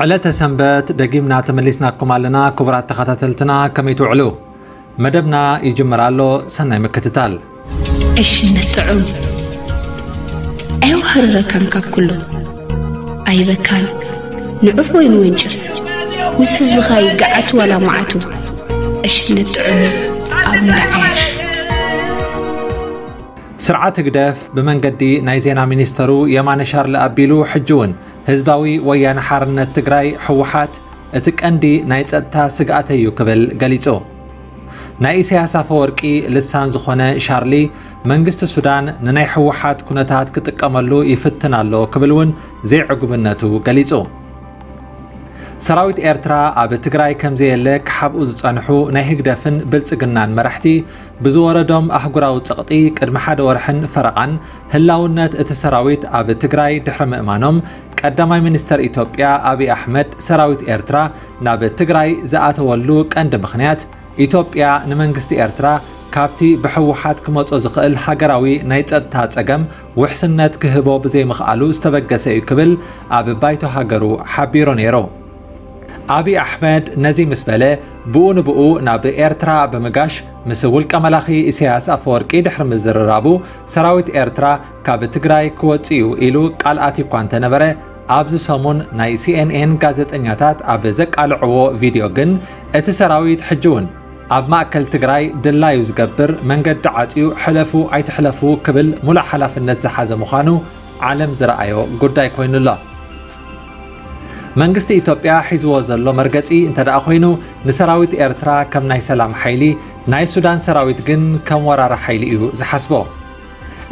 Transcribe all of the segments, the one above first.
ዕለተ ሰንበት ደጊምና ተመሊስናኩም ኣለና። ክቡራት ተኸታተልትና፣ ከመይ ትውዕሉ? መደብና ይጅምር ኣሎ። ሰናይ ምክትታል። ዕሽነት ጥዑም ኣይወሃርረካን ካብ ኩሉ ኣይበካን። ንዑፍ ወይ ንወንጭፍ፣ ምስ ህዝብኻ ይገዓት ዋላ መዓቱ። ዕሽነት ጥዑም ኣብ ምርዓሽ። ስርዓት ህግደፍ ብመንገዲ ናይ ዜና ሚኒስተሩ የማነ ሻርሊ ኣቢሉ፣ ሕጂ እውን ህዝባዊ ወያነ ሓርነት ትግራይ፣ ህወሓት፣ እቲ ቀንዲ ናይ ጸጥታ ስግኣተይ እዩ ክብል ገሊጹ። ናይ ኢሳያስ ኣፈወርቂ ልሳን ዝኾነ ሻርሊ፣ መንግስቲ ሱዳን ንናይ ህወሓት ኩነታት ክጥቀመሉ ይፍትን ኣሎ ክብል እውን ዘይዕጉብነቱ ገሊጹ። ሰራዊት ኤርትራ ኣብ ትግራይ ከም ዘየለ ክሓብኡ ዝጸንሑ ናይ ህግደፍን ብልጽግናን መራሕቲ፣ ብዝወረዶም ኣህጉራዊ ጸቕጢ ቅድሚ ሓደ ወርሕን ፈረቓን ህላውነት እቲ ሰራዊት ኣብ ትግራይ ድሕሪ ምእማኖም፣ ቀዳማይ ሚኒስተር ኢትዮጵያ ኣብይ ኣሕመድ፣ ሰራዊት ኤርትራ ናብ ትግራይ ዝኣተወሉ ቀንዲ ምኽንያት፣ ኢትዮጵያ ንመንግስቲ ኤርትራ ካብቲ ብህወሓት ክመጾ ዝኽእል ሃገራዊ ናይ ጸጥታ ጸገም ውሕስነት ክህቦ ብዘይምኽኣሉ ዝተበገሰ እዩ ክብል ኣብ ባይቶ ሃገሩ ሓቢሩ ነይሩ። ኣብይ ኣሕመድ ነዚ ምስ በለ፣ ብኡ ንብኡ ናብ ኤርትራ ብምጋሽ ምስ ውልቀ መላኺ ኢሳያስ ኣፈወርቂ ድሕሪ ምዝርራቡ፣ ሰራዊት ኤርትራ ካብ ትግራይ ክወጽእ እዩ ኢሉ ቃል ኣትዩ እኳ እንተነበረ፣ ኣብዚ ሰሙን ናይ ሲኤንኤን ጋዜጠኛታት ኣብ ዘቃልዕዎ ቪድዮ ግን፣ እቲ ሰራዊት ሕጂ እውን ኣብ ማእከል ትግራይ ድላዩ ዝገብር፣ መንገዲ ዓጽዩ ሕለፉ ኣይትሕለፉ ክብል ሙሉእ ሓላፍነት ዝሓዘ ምዃኑ ዓለም ዝረኣዮ ጉዳይ ኮይኑ ኣሎ። መንግስቲ ኢትዮጵያ ሒዝዎ ዘሎ መርገጺ እንተ ደኣ ኮይኑ፣ ንሰራዊት ኤርትራ ከም ናይ ሰላም ሓይሊ፣ ናይ ሱዳን ሰራዊት ግን ከም ወራሪ ሓይሊ እዩ ዝሓስቦ።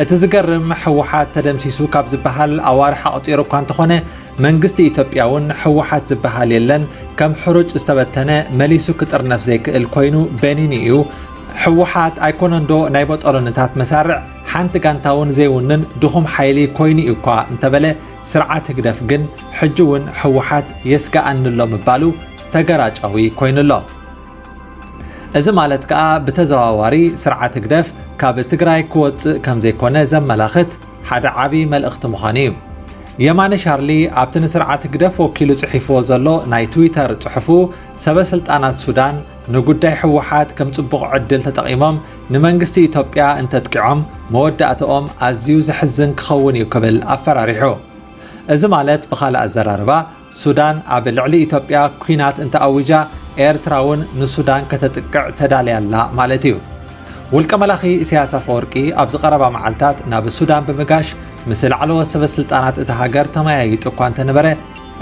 እቲ ዝገርም፣ ህወሓት ተደምሲሱ ካብ ዝበሃል ኣዋርሕ ኣቑጺሩ እኳ እንተኾነ፣ መንግስቲ ኢትዮጵያ እውን ህወሓት ዝበሃል የለን፣ ከም ሕሩጭ ዝተበተነ፣ መሊሱ ክጥርነፍ ዘይክእል ኮይኑ በኒኑ እዩ። ህወሓት ኣይኮነንዶ ናይ ቦጦሎንታት መሳርዕ፣ ሓንቲ ጋንታ እውን ዘይውንን ድኹም ሓይሊ ኮይኑ እዩ እኳ እንተበለ፣ ስርዓት ህግደፍ ግን ሕጂ እውን ህወሓት የስግኣኒ ኣሎ ምባሉ ተገራጫዊ ኮይኑ ኣሎ። እዚ ማለት ከኣ ብተዘዋዋሪ ስርዓት ህግደፍ ካብ ትግራይ ክወጽእ ከም ዘይኮነ ዘመላኽት ሓደ ዓቢ መልእኽቲ ምዃኑ እዩ። የማነ ሻርሊ ኣብቲ ንስርዓት ህግደፍ ወኪሉ ጽሒፍዎ ዘሎ ናይ ትዊተር ጽሑፉ፣ ሰበ ስልጣናት ሱዳን ንጉዳይ ህወሓት ከም ጽቡቕ ዕድል ተጠቒሞም ንመንግስቲ ኢትዮጵያ እንተጥቂዖም፣ መወዳእትኦም ኣዝዩ ዘሕዝን ክኸውን እዩ ክብል ኣፈራሪሑ። እዚ ማለት ብኻልእ ኣዘራርባ፣ ሱዳን ኣብ ልዕሊ ኢትዮጵያ ኲናት እንተኣዊጃ፣ ኤርትራ እውን ንሱዳን ከተጥቅዕ ተዳልያ ኣላ ማለት እዩ። ውልቀ መላኺ ኢሳያስ ኣፈወርቂ ኣብዚ ቀረባ መዓልታት ናብ ሱዳን ብምጋሽ ምስ ላዕለዎት ሰበ ስልጣናት እታ ሃገር ተመያይጡ እኳ እንተነበረ፣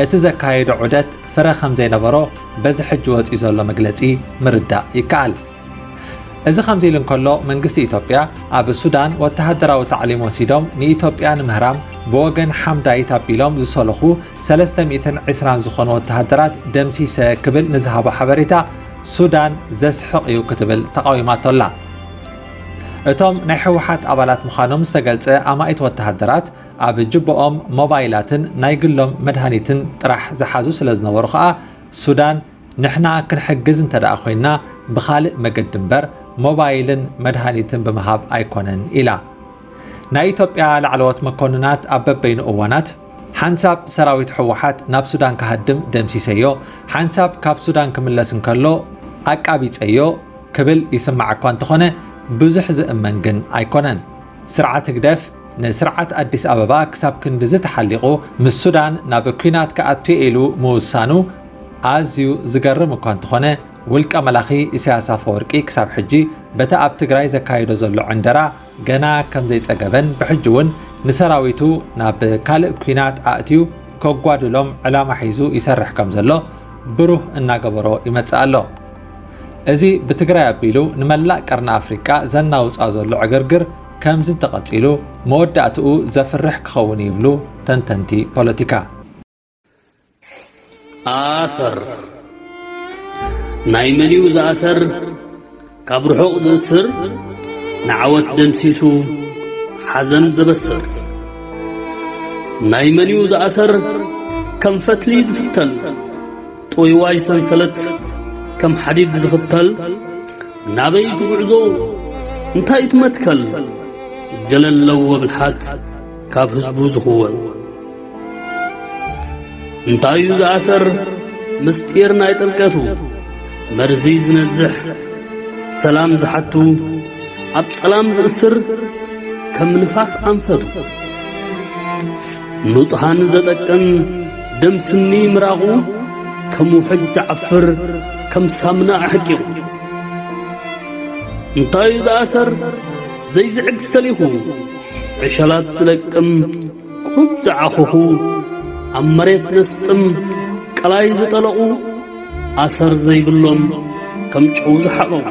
እቲ ዘካየዶ ዑደት ፍረ ከም ዘይነበሮ በዚ ሕጂ ወጺኡ ዘሎ መግለጺ ምርዳእ ይከኣል። እዚ ከምዚ ኢሉ እንከሎ፣ መንግስቲ ኢትዮጵያ ኣብ ሱዳን ወተሃደራዊ ታዕሊም ወሲዶም ንኢትዮጵያ ንምህራም ብወገን ሓምዳይት ኣቢሎም ዝሰለኹ ሰለስተ ሚእትን ዕስራን ዝኾኑ ወተሃደራት ደምሲሰ ክብል ንዝሃቦ ሓበሬታ፣ ሱዳን ዘስሕቕ እዩ ክትብል ተቓዊማቶ ኣላ። እቶም ናይ ህወሓት ኣባላት ምዃኖም ዝተገልጸ ኣማኢት ወተሃደራት፣ ኣብ ጅቦኦም ሞባይላትን ናይ ግሎም መድሃኒትን ጥራሕ ዝሓዙ ስለ ዝነበሩ ከኣ፣ ሱዳን ንሕና ክንሕግዝ እንተ ደኣ ኮይንና ብኻልእ መገዲ እምበር ሞባይልን መድሃኒትን ብምሃብ ኣይኮነን ኢላ። ናይ ኢትዮጵያ ላዕለዎት መኮንናት ኣብ በበይኑ እዋናት፣ ሓንሳብ ሰራዊት ህወሓት ናብ ሱዳን ክሃድም ደምሲሰዮ፣ ሓንሳብ ካብ ሱዳን ክምለስ እንከሎ ኣቃቢጸዮ ክብል ይስማዕ እኳ እንተኾነ፣ ብዙሕ ዝእመን ግን ኣይኮነን። ስርዓት ህግደፍ ንስርዓት ኣዲስ ኣበባ ክሳብ ክንድዚ ተሓሊቑ ምስ ሱዳን ናብ ኲናት ክኣቱ ኢሉ ምውሳኑ ኣዝዩ ዝገርም እኳ እንተኾነ፣ ውልቀ መላኺ ኢሳያስ ኣፈወርቂ ክሳብ ሕጂ በቲ ኣብ ትግራይ ዘካይዶ ዘሎ ዕንደራ ገና ከም ዘይጸገበን፣ ብሕጂ እውን ንሰራዊቱ ናብ ካልእ ኲናት ኣእትዩ ከጓድሎም ዕላማ ሒዙ ይሰርሕ ከም ዘሎ ብሩህ እናገበሮ ይመጽእ ኣሎ። እዚ ብትግራይ ኣቢሉ ንመላእ ቀርኒ ኣፍሪቃ ዘናውጻ ዘሎ ዕግርግር ከምዚ እንተቐጺሉ፣ መወዳእትኡ ዘፍርሕ ክኸውን ይብሉ ተንተንቲ ፖለቲካ። ኣሰር ናይ መን እዩ ዝኣሰር? ካብ ርሑቕ ዝእስር ንዓወት ደምሲሱ ሓዘን ዘበስር። ናይ መን እዩ ዝኣሰር? ከም ፈትሊ ዝፍተል ጥውይዋይ ሰንሰለት ከም ሓዲድ ዝኽተል፣ ናበይ ትጉዕዞ? እንታይ ትመትከል? ገለ ኣለዎ ብልሓት ካብ ህዝቡ ዝኽወል። እንታይ እዩ ዝኣሰር? ምስጢር ናይ ጥልቀቱ፣ መርዚ ዝነዝሕ፣ ሰላም ዝሓቱ፣ ኣብ ጸላም ዝእስር፣ ከም ንፋስ ኣንፈቱ። ንጹሃን ዘጠቅም፣ ደም ስኒ ምራቑ፣ ከም ውሕጅ ዝዓፍር፣ ከም ሳምና ኣሕቂቑ። እንታይ እዩ ዝኣሰር? ዘይዝዕግ ሰሊኹ፣ ዕሸላት ዝለቅም፣ ቁሩብ ዝዓኹኹ፣ ኣብ መሬት ዘስጥም፣ ቀላይ ዝጠለቑ፣ ኣሰር ዘይብሎም፣ ከም ጨው ዝሓቐቑ።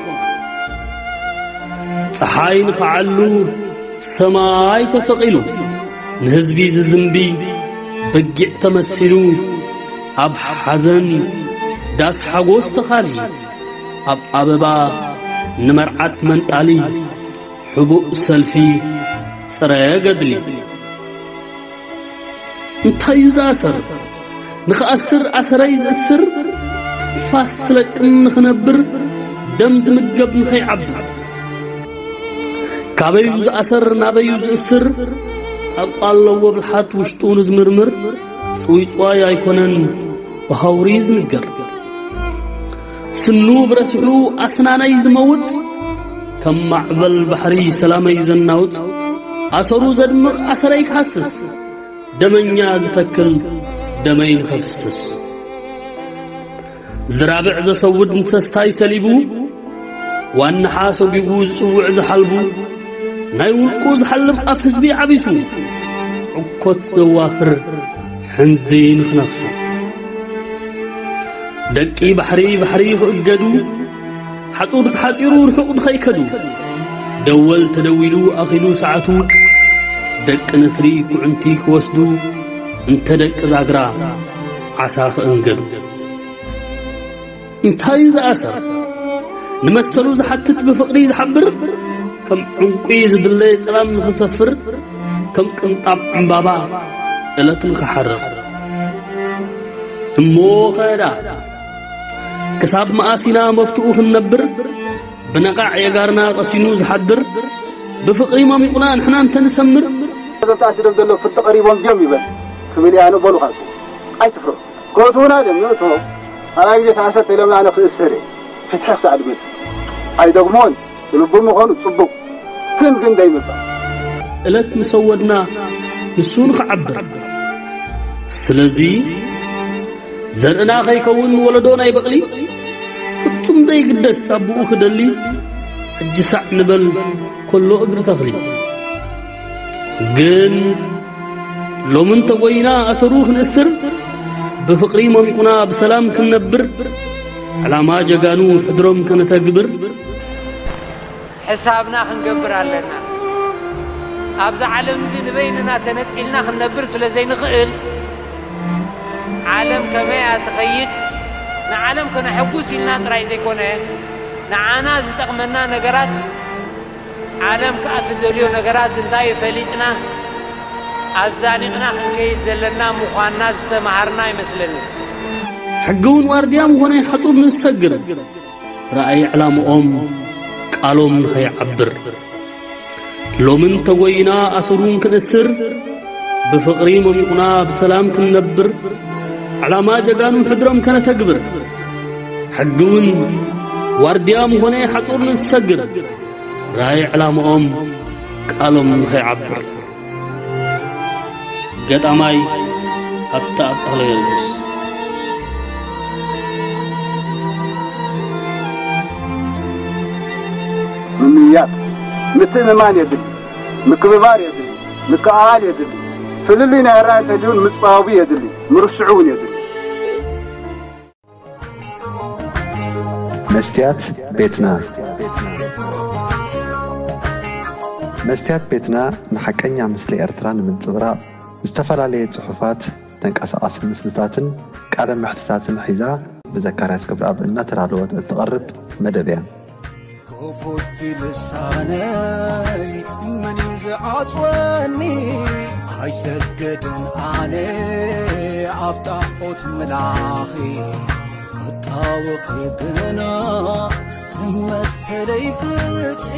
ጸሓይ ንኸዓሉ ሰማይ ተሰቒሉ፣ ንህዝቢ ዝዝንቢ በጊዕ ተመሲሉ፣ ኣብ ሓዘን ዳስ ሓጎስ ተኻሊ፣ ኣብ ኣበባ ንመርዓት መንጣሊ፣ ሕቡእ ሰልፊ ጽረ ገድሊ። እንታይ እዩ ዝኣሰር? ንኽኣስር ኣሰረይ ዝእስር፣ ትንፋስ ዝለቅም ንኽነብር፣ ደም ዝምገብ ንኸይዓብር። ካበዩ ዝኣሰር ናበዩ ዝእስር፣ ኣቋ ኣለዎ ብልሓት ውሽጡ ንዝምርምር፣ ጽውይጽዋይ ኣይኮነን ብሃውሪ ዝንገር። ስኑ ብረስሑ ኣስናነይ ዝመውጽ፣ ከም ማዕበል ባሕሪ ሰላመይ ዘናውጽ፣ ኣሰሩ ዘድምቕ ኣሰረይ ክሃስስ፣ ደመኛ ዝተክል ደመይ ንኸፍስስ። ዝራብዕ ዘሰውድ ንሰስታይ ሰሊቡ፣ ዋንሓ ሰጒጉ ዝጽውዕ ዝሓልቡ፣ ናይ ውልቁ ዝሓልብ ኣፍ ህዝቢ ዓቢሱ፣ ዕኮት ዘዋፍር ሕንዚ ንኽነፍሱ። ደቂ ባሕሪ ባሕሪ ክእገዱ፣ ሓጹር ተሓጺሩ ርሑቕ ንኸይከዱ። ደወል ተደዊሉ ኣኺሉ ሰዓቱ፣ ደቂ ነስሪ ኩዕንቲ ክወስዱ፣ እንተ ደቂ ዛግራ ዓሳ ክእንገዱ። እንታይ ዝኣሰር? ንመሰሉ ዝሓትት ብፍቕሪ ዝሓብር፣ ከም ዕንቁ ዝድለ ጸላም ንኽሰፍር፣ ከም ቅንጣብ ዕምባባ እለት ንኽሓርር። እሞ ኸዳ ክሳብ መኣስ ኢና መፍትኡ ክንነብር? ብነቓዕ የጋርና ቀሲኑ ዝሓድር፣ ብፍቕሪ መሚቑና ንሕና እንተንሰምር። እዞም ተኣሲሮም ዘለዉ ፍርዲ ቀሪቦም ድዮም ይበል ክብል እየ ኣነ። በሉ ካሱ ኣይትፍርሑ። ክእትዉና ድዮም ይእትዎም። ካልኣይ ግዜ ተኣሰር ተኢሎም ኣነ ክእሰር እየ። ፍትሒ ክሳዕ ድመጽእ ኣይደግሞን። ስልቡ ምዃኑ ጽቡቕ፣ ግን ግን ደይምባል። እለት ምስ ኣወድና ንሱ ንኽዓብር። ስለዚ ዘርእና ከይከውን ወለዶ ናይ በቕሊ፣ ፍጹም ዘይግደስ ኣቦኡ ክደሊ፣ ሕጂ ሳዕ ንበል ከሎ እግሪ ተኽሊ። ግን ሎሚ እንተጎይና ኣሰሩ ክንእስር፣ ብፍቕሪ መሚቑና ብሰላም ክንነብር፣ ዕላማ ጀጋኑ ሕድሮም ከነተግብር። ሕሳብና ክንገብር ኣለና። ኣብዛ ዓለም እዚ ንበይንና ተነጺልና ክንነብር ስለ ዘይንኽእል፣ ዓለም ከመይ እያ ትኸይድ፣ ንዓለም ከነሐጉስ ኢልና ጥራይ ዘይኮነ፣ ንዓና ዝጠቕመና ነገራት፣ ዓለም ከኣ ትደልዮ ነገራት እንታይ እዩ ፈሊጥና፣ ኣዛኒቕና ክንከይድ ዘለና ምዃንና ዝተማሃርና ይመስለኒ። ሕጊ እውን ዋርድያ ምኾነ ሓጹር ንዝሰግር፣ ራእይ ዕላምኦም ቃሎም ንኸይዓብር። ሎሚ እንተጎይና ኣሰሩን ክንእስር፣ ብፍቕሪ መሚቑና ብሰላም ክንነብር፣ ዕላማ ጀጋኑ ሕድሮም ከነተግብር። ሕጊ እውን ዋርድያ ምኾነ ሓጹር ንዝሰግር፣ ራእይ ዕላምኦም ቃሎም ንኸይዓብር። ገጣማይ ሃብተኣብ ተኽለጊዮርጊስ። ምምይያጥ፣ ምትእምማን የድሊ፣ ምክብባር የድሊ፣ ምክእኣል የድሊ፣ ፍልልይ ናይ ኣረኣእያ እንተልዩን ምጽባቡ የድሊ፣ ምርስዑ እውን የድሊ። መስትያት ቤትና። መስትያት ቤትና ንሓቀኛ ምስሊ ኤርትራ ንምንጽብራቕ ዝተፈላለየ ጽሑፋት፣ ተንቀሳቓሲ ምስልታትን ቃለ መሕትታትን ሒዛ ብዘካርያስ ገብረኣብ እናተዳለወት እትቐርብ መደብ እያ። ክፉት ልሳነይ መን እዩ ዝዓጽወኒ? ኣይሰግድን ኣነ ኣብ ጣዖት ምላኺ ክጣወኺ ግና መሰለይ ፍትሒ።